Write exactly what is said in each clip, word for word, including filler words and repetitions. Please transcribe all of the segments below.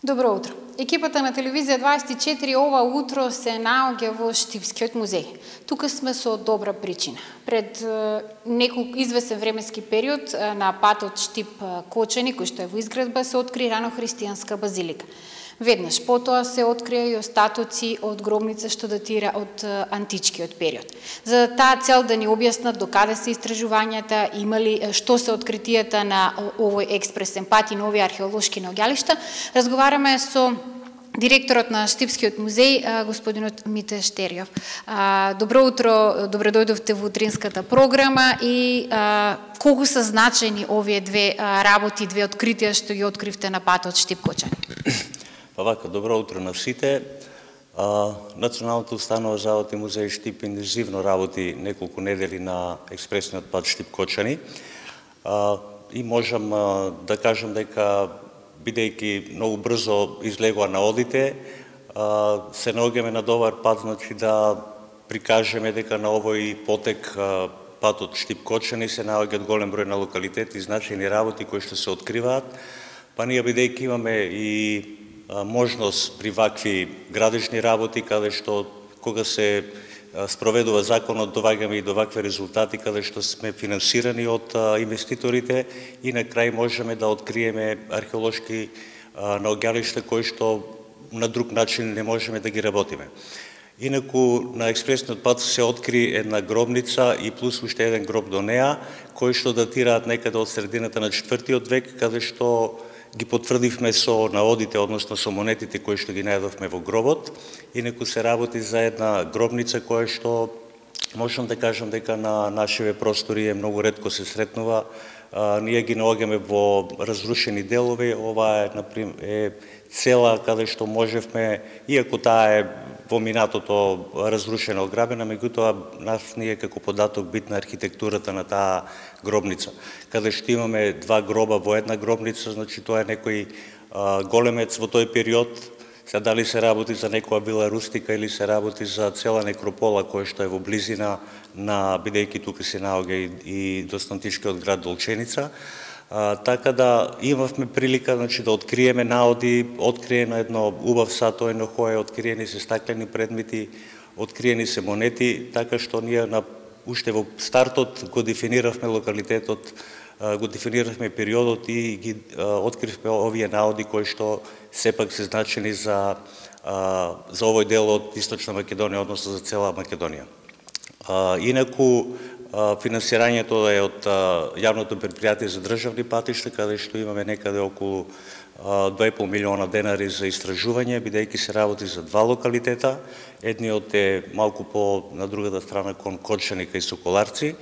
Добро утро. Екипата на телевизија дваесет и четири ова утро се наоѓа во Штипскиот музеј. Тука сме со добра причина. Пред неколку извесен временски период на патот Штип-Кочани, кој што е во изградба, се откри ранохристијанска базилика. Веднаш потоа се открија и остатоци од гробница што датира од античкиот период. За таа цел да ни објаснат докаде се истражувањата, имали што се откритијата на овој експресен пат и на овие археолошки наоѓалишта, разговараме со директорот на Штипскиот музеј, господинот Мите Штериов. Добро утро, добре дојдовте во утринската програма и колку се значајни овие две работи, две откритија што ги откривте на патот Штип-Кочани? Па вака, добро утро на сите. А, Националната установа за работи музеј Штип интензивно работи неколку недели на експресниот пат Штип-Кочани. А, и можам а, да кажам дека, бидејќи многу брзо излегува на одите, а, се наоѓаме на добар пат, значи да прикажеме дека на овој потек а, патот Штип-Кочани се наоѓаат голем број на локалитети, значајни работи кои што се откриваат, па ние бидејќи имаме и можност при вакви градежни работи, каде што кога се спроведува законот, доваѓаме и до вакви резултати, каде што сме финансирани од инвеститорите и на крај можеме да откриеме археолошки наоѓалишта кои што на друг начин не можеме да ги работиме. Инаку на експресниот пат се откри една гробница и плюс уште еден гроб до неа, кои што датираат некаде од средината на четвртиот век, каде што ги потврдивме со наодите, односно со монетите кои што ги најдовме во гробот. Инаку се работи за една гробница која што можам да кажам дека на нашиве простори е многу ретко се сретнува. А, ние ги наоѓаме во разрушени делови. Ова е, например, е цела каде што можевме, иако таа е во минатото разрушена, ограбена, меѓутоа нас ние како податок битна архитектурата на таа гробница. Каде што имаме два гроба во една гробница, значи тоа е некој а, големец во тој период. Сега дали се работи за некоја вила рустика или се работи за цела некропола која што е во близина на, бидејќи тука се наоѓа и, и доста-античкиот град Долченица. А, така да имавме прилика, значи, да откриеме наоди, откриено едно убав сатоено хој, откриени се стаклени предмети, откриени се монети, така што ние на уште во стартот го дефиниравме локалитетот, го дефиниравме периодот и ги откривме овие наоди кои што сепак се значени за за овој дел од Источна Македонија, односно за цела Македонија. Инаку финансирањето е од јавното предпријатие за државни патишта, каде што имаме некаде околу два и пол милиона денари за истражување, бидејќи се работи за два локалитета. Едниот е малку по на другата страна кон Кочани кај Соколарци.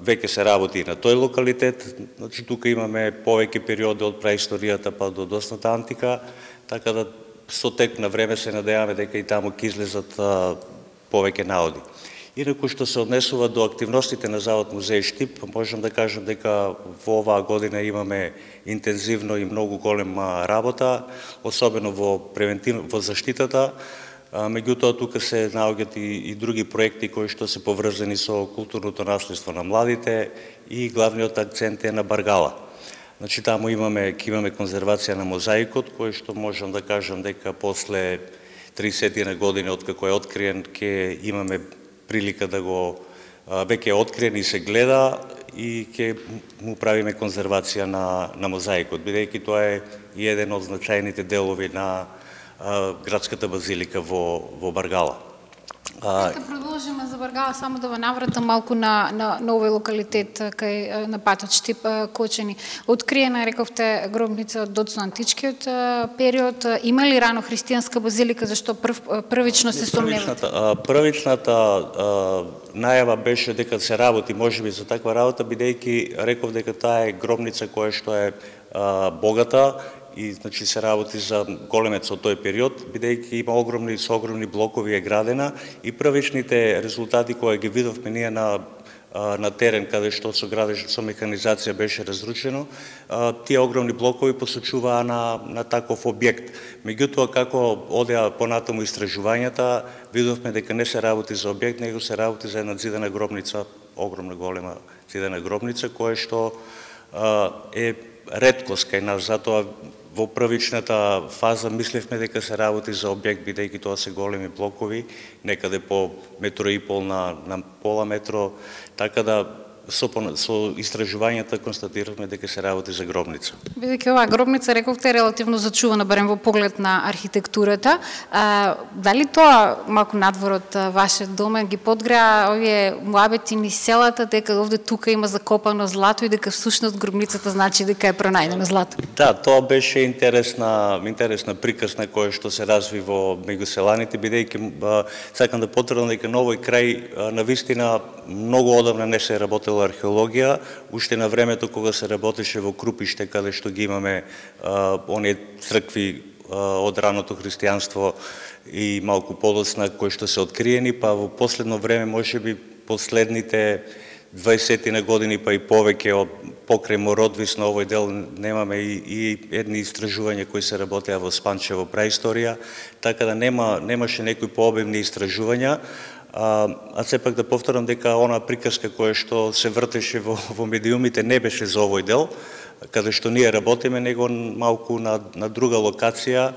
Веќе се работи на тој локалитет, значи тука имаме повеќе периоди од праисторијата па до досната антика, така да со тек на време се надеваме дека и таму ќе излезат повеќе наоди. Инаку што се однесува до активностите на Завод музеј Штип, можам да кажам дека во оваа година имаме интензивно и многу голема работа, особено во превентив, во заштитата. Меѓутоа тука се наоѓаат и, и други проекти кои што се поврзани со културното наследство на младите и главниот акцент е на Баргала. Значи таму имаме ќе имаме конзервација на мозаикот, кој што можам да кажам дека после триесет години од како е откриен ќе имаме прилика да го веќе е откриен и се гледа и ќе му правиме конзервација на на мозаикот, бидејќи тоа е и еден од значајните делови на градската базилика во во Баргала. Нека продолжиме за Баргала, само да ве навратам малку на на, на овој локалитет кај на патот Штип-Кочани. Откриена, рековте, гробница од доцно-античкиот период. Има ли рано христијанска базилика, зашто прв, првично се сомневате? Првичната, првичната најава беше дека се работи можеби за таква работа, бидејќи реков дека таа е гробница која што е а, богата, и значи се работи за големец од тој период, бидејќи има огромни со огромни блокови е градена и првичните резултати кои ги видовме ние на на терен каде што со градеж со механизација беше разрушено, тие огромни блокови посочуваа на на таков објект. Меѓутоа како одеа понатаму истражувањата, видовме дека не се работи за објект, него се работи за една зидена гробница, огромна голема зидена гробница која што е реткост кај нас, затоа во првичната фаза мислевме дека се работи за објект, бидејќи тоа се големи блокови, некаде по метро и пол на, на пола метро, така да со, со истражувањата констатиравме дека се работи за гробница. Бидејќи оваа гробница, рековте, е релативно зачувана, барем во поглед на архитектурата, а, дали тоа малку надвор од вашиот дом ги подгреа овие муабети низ селата, дека овде тука има закопано злато и дека всушност гробницата значи дека е пронајдено злато? Да, тоа беше интересна, интересна приказна која што се разви во меѓу селаните, бидејќи сакам да потврдам дека на овој крај навистина многу одамна не се работело археологија, уште на времето кога се работеше во Крупиште, каде што ги имаме а, оние цркви а, од раното христијанство и малку подоцна кои што се откриени, па во последно време, можеби последните дваесет години, па и повеќе од покрај Мородвис на овој дел немаме и, и едни истражувања кои се работеа во Спанчево праисторија, така да нема, немаше некои пообемни истражувања. А, а сепак да повторам дека она приказка која што се вртеше во, во медиумите не беше за овој дел, каде што ние работиме, него малку на, на друга локација,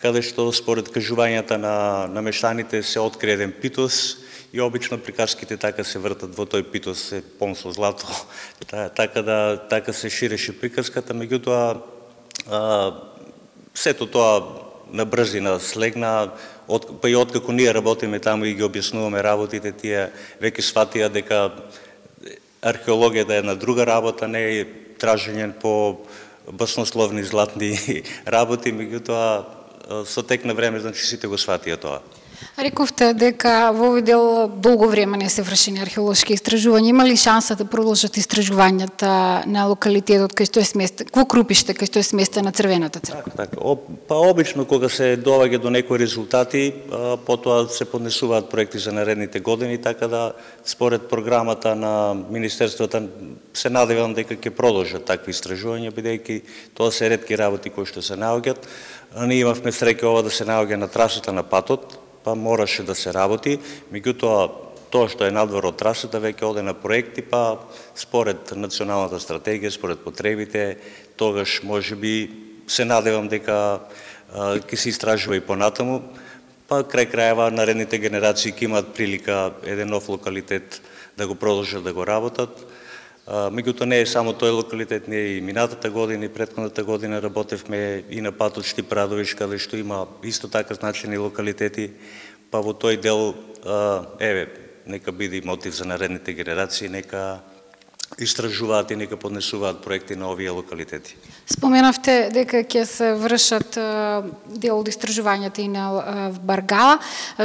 каде што според кажувањата на, на мештаните се откри еден питос и обично приказките така се вртат во тој питос се пон со злато, така да така се ширеше приказката, меѓутоа сето тоа на брзина слегна, от, па и откако ние работиме таму и ги објаснуваме работите, тие веќе сватија дека археологијата е една друга работа, не е тражење по баснословни златни работи, меѓутоа со тек на време, значи сите го сватија тоа. Рековте дека во овој дел долго време не се вршени археолошки истражувања. Има ли шанса да продолжат истражувањата на локалитетот кај што е сместен, во Крупиште, кај што е сместена Црвената црква? Така, така. О, па обично кога се доаѓа до некои резултати, а, потоа се поднесуваат проекти за наредните години, така да според програмата на министерството се надевам дека ќе продолжат такви истражувања, бидејќи тоа се ретки работи кои што се наоѓаат. Ние имавме среќа ова да се наоѓа на трасата на патот, па мораше да се работи, меѓутоа тоа што е надвор од трасата веќе оде на проекти, па според националната стратегија, според потребите, тогаш можеби се надевам дека ќе се истражува и понатаму, па крај крајава наредните генерации ќе имаат прилика еден нов локалитет да го продолжат да го работат. Меѓутоа не е само тој локалитет, ние и минатата година и претходната година работевме и на патот Штип-Радовиш, каде што има исто така значени локалитети, па во тој дел, еве, нека биде мотив за наредните генерации, нека истражуваат и нека поднесуваат проекти на овие локалитети. Споменавте дека ќе се вршат дел од истражувањата и на Баргала.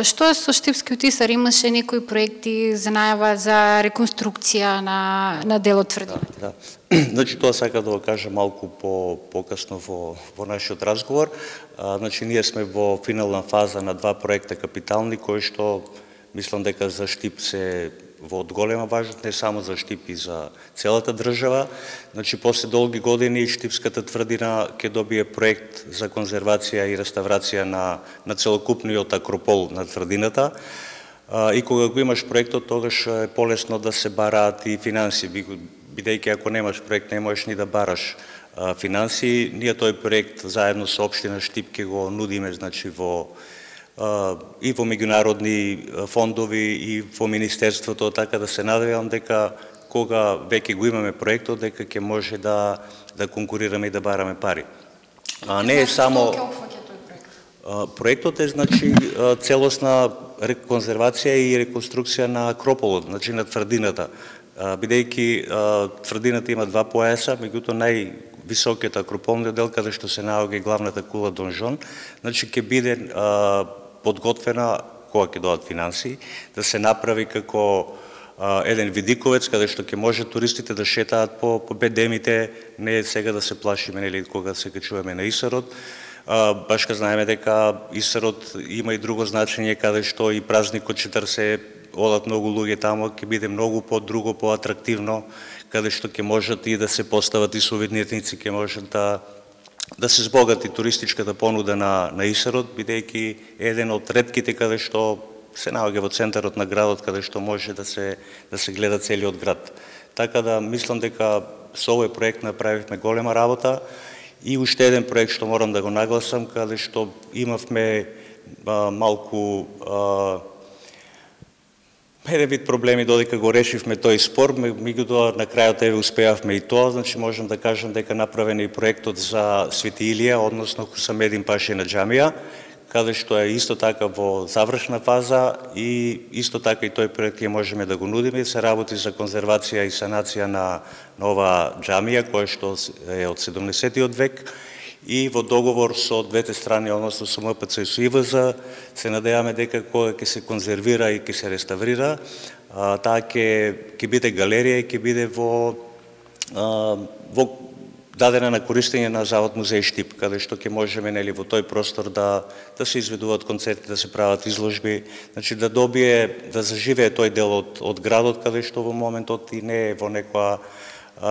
Што е со Штипскиот Исар? Имаше некои проекти за најава за реконструкција на, на делот тврдината? Да, да. Значи тоа сака да го кажа малку по покасно во во нашиот разговор. А, значи ние сме во финална фаза на два проекта капитални кои што мислам дека за Штип се во од голема важност, не само за Штип и за целата држава. Значи, после долги години Штипската тврдина ќе добие проект за конзервација и реставрација на, на целокупниот акропол на тврдината. А, и кога го имаш проектот, тогаш е полесно да се бараат и финанси, бидејќи ако немаш проект, не можеш ни да бараш а, финанси. Ние тој проект заедно со општина Штип ќе го нудиме, значи, во и во меѓународни фондови и во министерството, така да се надевам дека кога веќе го имаме проектот, дека ќе може да да конкурираме и да бараме пари. А не е само проектот е значи целосна конзервација и реконструкција на акрополот, значи на тврдината. Бидејќи тврдината има два појаса, меѓутоа нај високиот акрополниот дел каде што се наоѓа главната кула Донжон, значи ќе биде подготвена, кога ќе дојдат финанси, да се направи како а, еден видиковец, каде што ќе може туристите да шетаат по, по бедемите, не сега да се плашиме, нели, кога се качуваме на Исарот. А, баш ка знаеме дека Исарот има и друго значење, каде што и празникот четрдесет одат многу луѓе таму, ќе биде многу по-друго, по-атрактивно, каде што ќе можат и да се постават и сувенирници, ќе можат да да се збогати туристичката понуда на, на Исарот, бидејќи еден од ретките каде што се наоѓа во центарот на градот, каде што може да се, да се гледа целиот град. Така да мислам дека со овој проект направивме голема работа И уште еден проект што морам да го нагласам, каде што имавме а, малку а, еден вид проблеми додека го решивме тој спор, меѓутоа на крајот еве успеавме и тоа, значи можам да кажам дека направен е и проектот за Свети Илија, односно Хусамедин Пашина џамија, каде што е исто така во завршна фаза и исто така и тој проект ќе можеме да го нудиме. Се работи за конзервација и санација на нова џамија, која што е од седумдесетиот век, и во договор со двете страни, односно со М П Ц и со И В З, се надеваме дека кога ќе се конзервира и ќе се реставрира, таа ќе ќе биде галерија и ќе биде во во дадена на користење на Завод музеј Штип, каде што ќе можеме нели во тој простор да да се изведуваат концерти, да се прават изложби, значи да добие, да заживее тој дел од од градот каде што во моментот и не е во некоја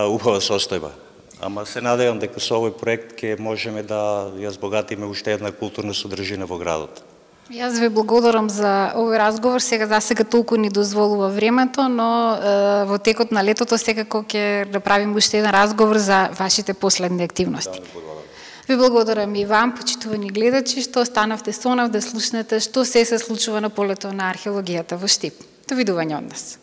убава состојба. Ама се надевам дека со овој проект ќе можеме да ја збогатиме уште една културна содржина во градот. Јас ви благодарам за овој разговор. Сега за сега толку ни дозволува времето, но е, во текот на летото секако ќе направим уште еден разговор за вашите последни активности. Да, ви благодарам и вам, почитувани гледачи, што останавте со нас да слушнете што се се случува на полето на археологијата во Штип. Довидување од нас.